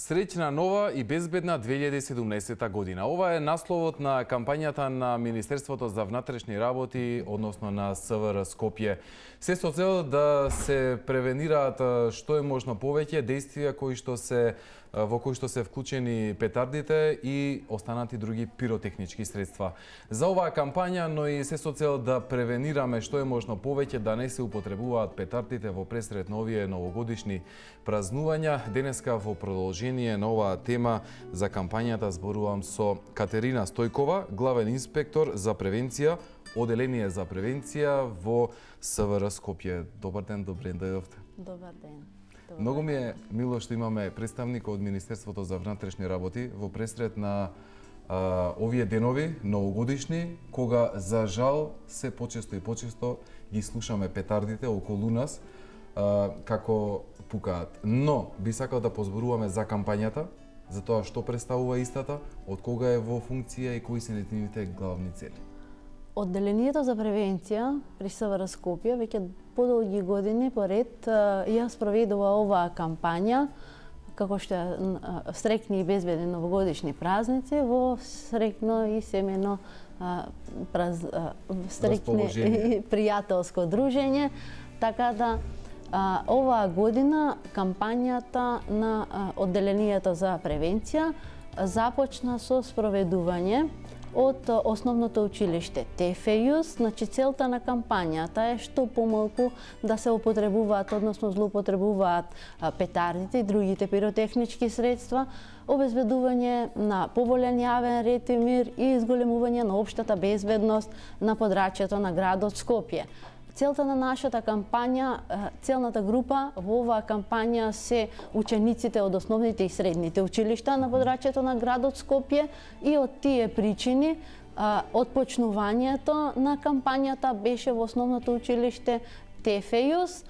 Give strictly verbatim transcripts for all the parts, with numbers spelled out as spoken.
Среќна нова и безбедна две илјади и седумнаесета година. Ова е насловот на кампањата на Министерството за внатрешни работи, односно на СВР Скопје. Се со цел да се превенираат што е можно повеќе действија кои што се во кои што се вклучени петардите и останати други пиротехнички средства. За оваа кампања, но и се со цел да превенираме што е можно повеќе да не се употребуваат петардите во пресред на овие новогодишни празнувања, денеска во продолжение на оваа тема за кампањата зборувам со Катерина Стојкова, главен инспектор за превенција, Оделение за превенција во СВР Скопје. Добар ден, добре дојдовте. Добар ден. Добар Многу ми е мило што имаме представник од Министерството за внатрешни работи во пресред на а, овие денови новогодишни, кога за жал се почесто и почесто ги слушаме петардите околу нас а, како пукаат. Но би сакал да позборуваме за кампањата, за тоа што представува истата, од кога е во функција и кои се нетините главни цели. Одделението за превенција при СВР Скопје веќе подолги години поред ја спроведува оваа кампања како што е среќни и безбедни новогодишни празници во среќно и семено праз, среќни и пријателско дружење, така да А, оваа година кампањата на а, Одделението за превенција започна со спроведување од а, основното училиште ТФЮС. Значи целта на кампањата е што помалку да се употребуваат, односно злоупотребуваат а, петардите и другите пиротехнички средства, обезбедување на поволен јавен ред и мир и изголемување на општата безбедност на подрачјето на градот Скопје. Целта на нашата кампања, целната група во оваа кампања се учениците од основните и средните училишта на подрачјето на градот Скопје и од тие причини од почнувањето на кампањата беше во основното училиште ТФЮС,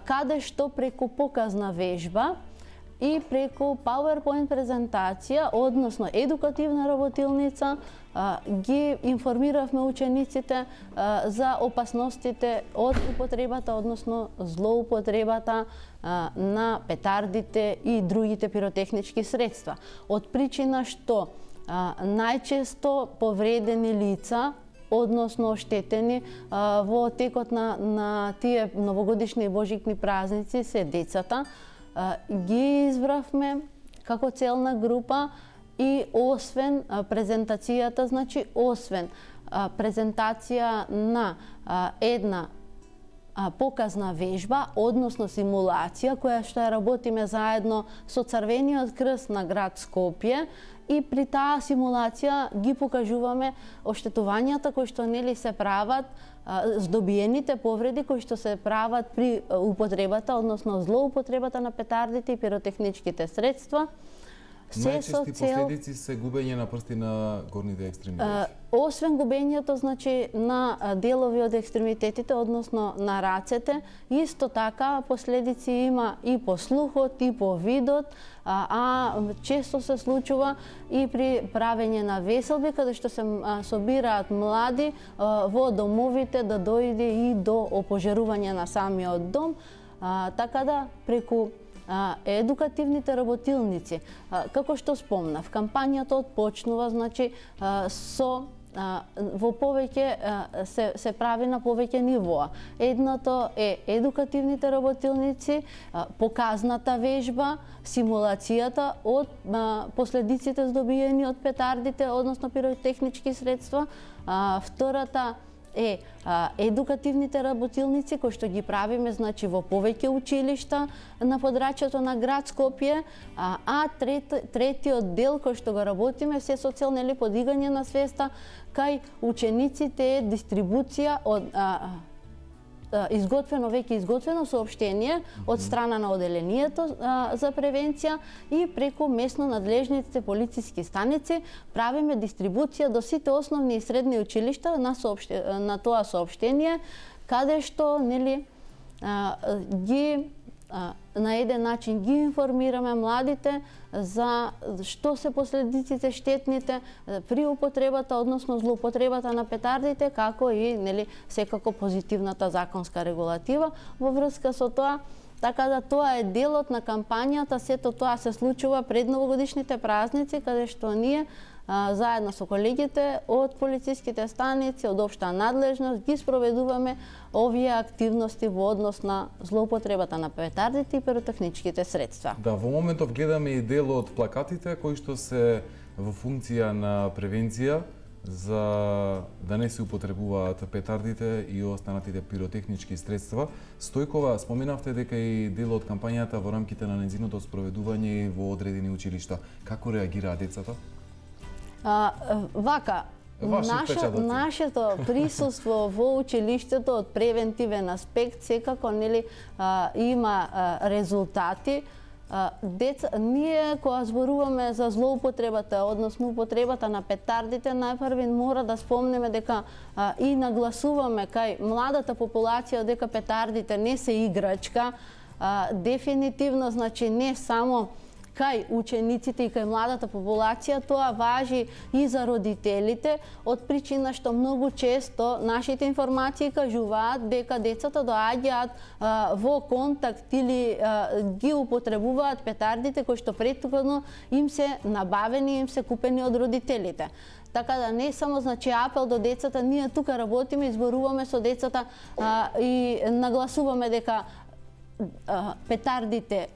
каде што преку показна вежба и преку PowerPoint презентација, односно едукативна работилница, ги информиравме учениците за опасностите од употребата, односно злоупотребата на петардите и другите пиротехнички средства. Од причина што најчесто повредени лица, односно оштетени во текот на, на тие новогодишни и божикни празници се децата, ги избравме како целна група и освен презентацијата, значи освен презентација на една показна вежба, односно симулација, која што ја работиме заедно со Црвениот крст на град Скопје, и при таа симулација ги покажуваме оштетувањата кои што нели се прават, здобиените повреди кои што се прават при употребата, односно злоупотребата на петардите и пиротехничките средства. Најчести последици се губење на прсти на горните екстремитети. Освен губењето, значи, на делови од екстремитетите, односно на рацете, исто така последици има и по слухот, и по видот, а, а често се случува и при правење на веселби, каде што се собираат млади а, во домовите да дојде и до опожарување на самиот дом, а, така да преку едукативните работилници, како што спомнав, кампањата отпочнува, значи, со во повеќе се, се прави на повеќе нивоа. Едното е едукативните работилници, показната вежба, симулацијата од последиците здобиени од петардите, односно пиротехнички средства. Втората е а, едукативните работилници кои што ги правиме, значи, во повеќе училишта на подрачјето на град Скопје, а, а трет, третиот дел кој што го работиме се со цел нели подигање на свеста кај учениците е дистрибуција од а, изготвено веќе изготвено соопштение од страна на Оделението за превенција и преку местно надлежните полициски станици правиме дистрибуција до сите основни и средни училишта на, соопште, на тоа соопштение, каде што нели ги на еден начин ги информираме младите за што се последиците штетните при употребата, односно злоупотребата на петардите, како и нели секако позитивната законска регулатива во врска со тоа Така да тоа е делот на кампањата, сето тоа се случува пред новогодишните празници, каде што ние а, заедно со колегите од полициските станици, од општа надлежност, ги спроведуваме овие активности во однос на злоупотребата на петардите и пиротехничките средства. Да, во моментов гледаме и дел од плакатите кои што се во функција на превенција за да не се употребуваат петардите и останатите пиротехнички средства. Стојкова, споменавте дека и дел од кампањата во рамките на нејзиното спроведување во одредени училишта. Како реагираат децата? А, вака, Наше, нашето присуство во училиштето од превентивен аспект секако нели а, има а, резултати. А, деца, ние кога зборуваме за злоупотребата, односно употребата на петардите, најпрви мора да спомнеме дека а, и нагласуваме кај младата популација дека петардите не се играчка. А, дефинитивно, значи не само кај учениците и кај младата популација, тоа важи и за родителите, од причина што многу често нашите информации кажуваат дека децата доаѓаат а, во контакт или а, ги употребуваат петардите кои што претходно им се набавени, им се купени од родителите. Така да не само значи апел до децата, ние тука работиме, изборуваме со децата а, и нагласуваме дека а, петардите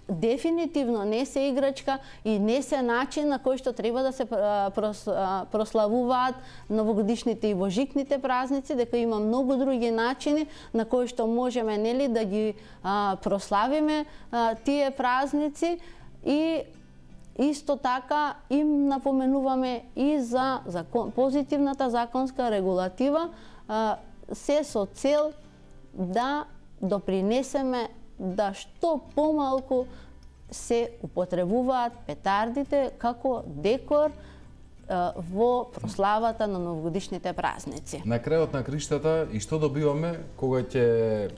дефинитивно не се играчка и не се начин на кој што треба да се прославуваат новогодишните и божикните празници, дека има многу други начини на кои што можеме нели да ги а, прославиме а, тие празници и исто така им напоменуваме и за закон, позитивната законска регулатива, а, се со цел да допринесеме да што помалку се употребуваат петардите како декор а, во прославата на новогодишните празници. На крајот на криштата, и што добиваме кога ќе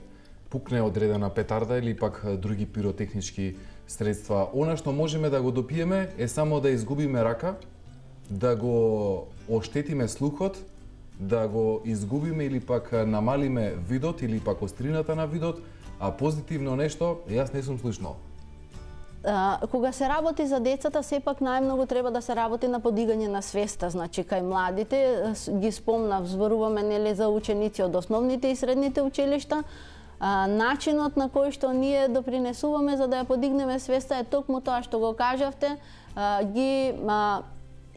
пукне одредена петарда или пак други пиротехнички средства? Она што можеме да го допиеме е само да изгубиме рака, да го оштетиме слухот, да го изгубиме или пак намалиме видот или пак острината на видот, а позитивно нешто, јас не сум слушнал. А, кога се работи за децата, сепак најмногу треба да се работи на подигање на свеста, значи кај младите, ги спомнав, зборуваме нели за ученици од основните и средните училишта. А, начинот на кој што ние допринесуваме за да ја подигнеме свеста е токму тоа што го кажавте, а, ги а,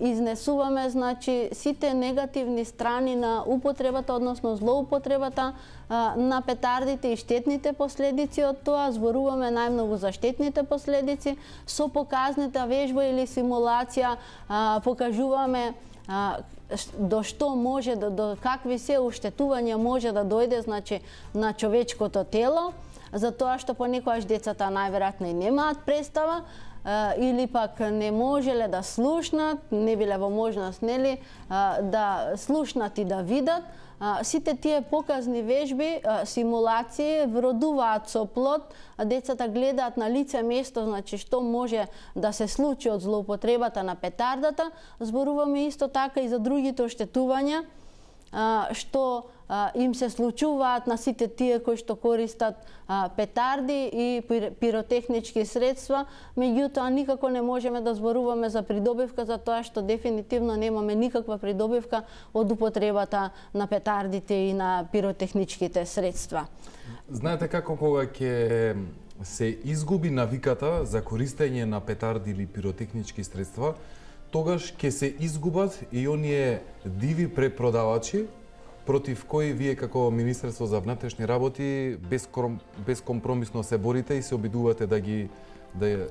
изнесуваме значи сите негативни страни на употребата, односно злоупотребата а, на петардите и штетните последици од тоа. Зборуваме најмногу за штетните последици. Со показната вежба или симулација а, покажуваме а, до што може, до, до какви се уштетувања може да дојде значи на човечкото тело, за тоа што понекогаш децата најверојатно и немаат представа, или пак не можеле да слушнат, не биле во можност нели да слушнат и да видат. Сите тие показни вежби, симулации вродуваат со плод, децата гледаат на лице место, значи што може да се случи од злоупотребата на петардата. Зборуваме исто така и за другите оштетувања што им се случуваат на сите тие кои што користат петарди и пиротехнички средства, меѓутоа никако не можеме да зборуваме за придобивка, за тоа што дефинитивно немаме никаква придобивка од употребата на петардите и на пиротехничките средства. Знаете како кога ќе се изгуби навиката за користење на петарди или пиротехнички средства, тогаш ќе се изгубат и оние диви препродавачи против кои вие како Министерство за внатрешни работи безкомпромисно се борите и се обидувате да ги да,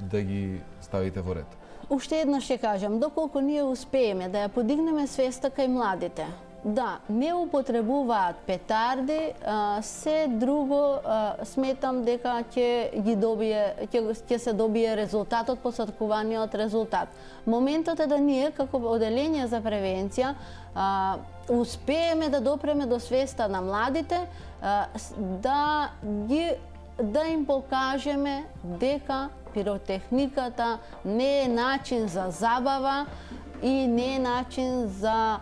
да ги ставите во ред. Уште еднаш ќе кажам, доколку ние успееме да ја подигнеме свеста кај младите, да не употребуваат петарди, а, се друго а, сметам дека ќе ги добие ќе ќе се добие резултатот, посакуваниот резултат. Моментот е да ние како оделение за превенција а, успееме да допреме до свеста на младите, а, да ги да им покажеме дека пиротехниката не е начин за забава, и не е начин за,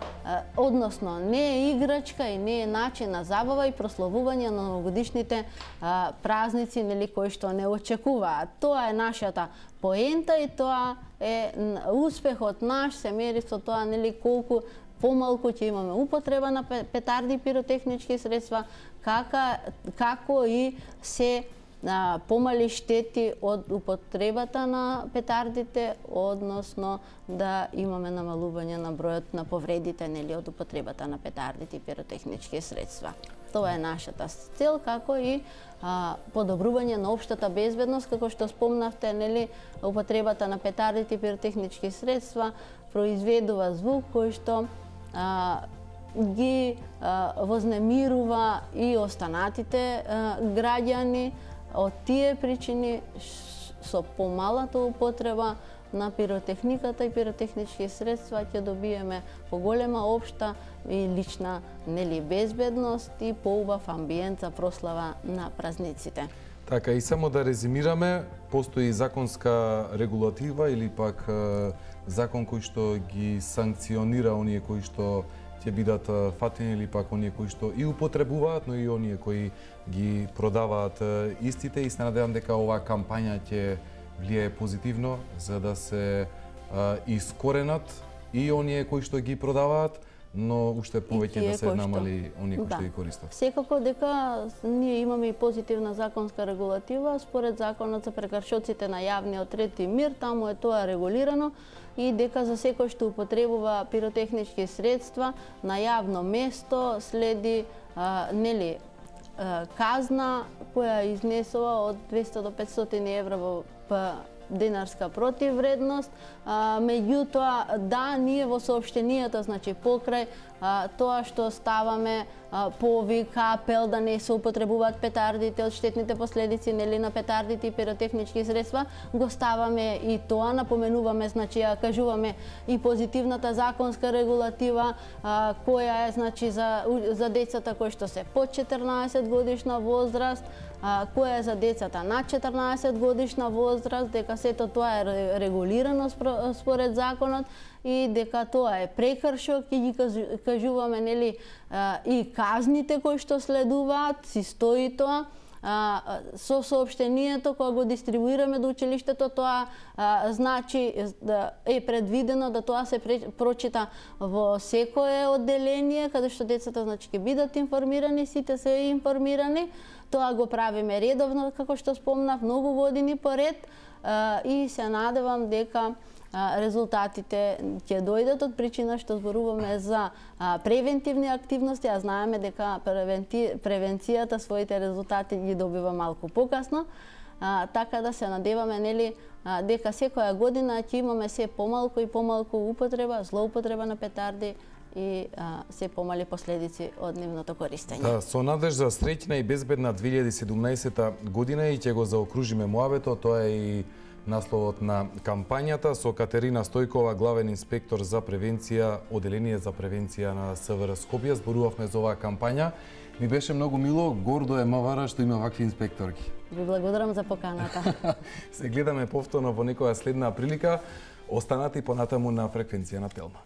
односно, не е играчка и не е начин на забава и прославување на новогодишните а, празници, нели, кои што не очекуваат. Тоа е нашата поента и тоа е успехот наш, се мери со тоа, нели, колку помалку ќе имаме употреба на петарди и пиротехнички средства, кака, како и се а, помали штети од употребата на петардите, односно да имаме намалување на бројот на повредите, нели, од употребата на петардите и пиротехнички средства. Тоа е нашата цел, како и а, подобрување на општата безбедност, како што спомнавте, нели, употребата на петардите и пиротехнички средства произведува звук кој што а, ги а, вознемирува и останатите а, граѓани. Од тие причини со помалата употреба на пиротехниката и пиротехнички средства ќе добиеме поголема општа и лична, нели, безбедност и поубав амбиент за прослава на празниците. Така, и само да резимираме, постои законска регулатива или пак закон кој што ги санкционира оние кои што ќе бидат фатени или пак оние кои што и употребуваат, но и оние кои ги продаваат истите, и се надевам дека оваа кампања ќе влијае позитивно за да се а, искоренат и оние кои што ги продаваат, но уште повеќе да се намали оние кои да. што ги користат. Секако дека ние имаме и позитивна законска регулатива, според законот за прекршоците на јавниот ред и мир, таму е тоа регулирано, и дека за секој што употребува пиротехнички средства на јавно место следи а, нели а, казна која изнесува од двесте до петстотини евра во денарска противвредност. А, меѓутоа, да, ние во соопштенијата, значи покрај а, тоа што ставаме а, повик, апел да не се употребуваат петардите од штетните последици, нели, на петардите и пиротехнички средства, го ставаме и тоа, напоменуваме, значи ја кажуваме и позитивната законска регулатива а, која е, значи, за, за децата кои што се под четрнаесет годишна возраст, а, која е за децата над четрнаесет годишна возраст, дека сето тоа е регулирано според законот и дека тоа е прекршок, и ги кажуваме, нели, и казните кои што следуваат, си стои тоа. А, со соопштението кога го дистрибуираме до училиштето, тоа а, значи да е предвидено да тоа се прочита во секое одделение каде што децата, значи, ќе бидат информирани, сите се информирани. Тоа го правиме редовно, како што спомнав, многу години поред, а, и се надевам дека резултатите ќе дојдат од причина што зборуваме за а, превентивни активности, а знаеме дека превенти... превенцијата своите резултати ги добива малку покасно, а, така да се надеваме, нели, а, дека секоја година ќе имаме се помалку и помалку употреба, злоупотреба на петарди и а, се помали последици од нивното користење. Да, со надеж за среќна и безбедна две илјади и седумнаесета година, и ќе го заокружиме муабето, тоа е и насловот на кампањата, со Катерина Стојкова, главен инспектор за превенција, Оделение за превенција на СВР Скопје. Зборувавме за оваа кампања. Ми беше многу мило, гордо е МВР што има вакви инспекторки. Ви благодарам за поканата. Се гледаме повторно во некоја следна прилика. Останати понатаму на фреквенција на Телма.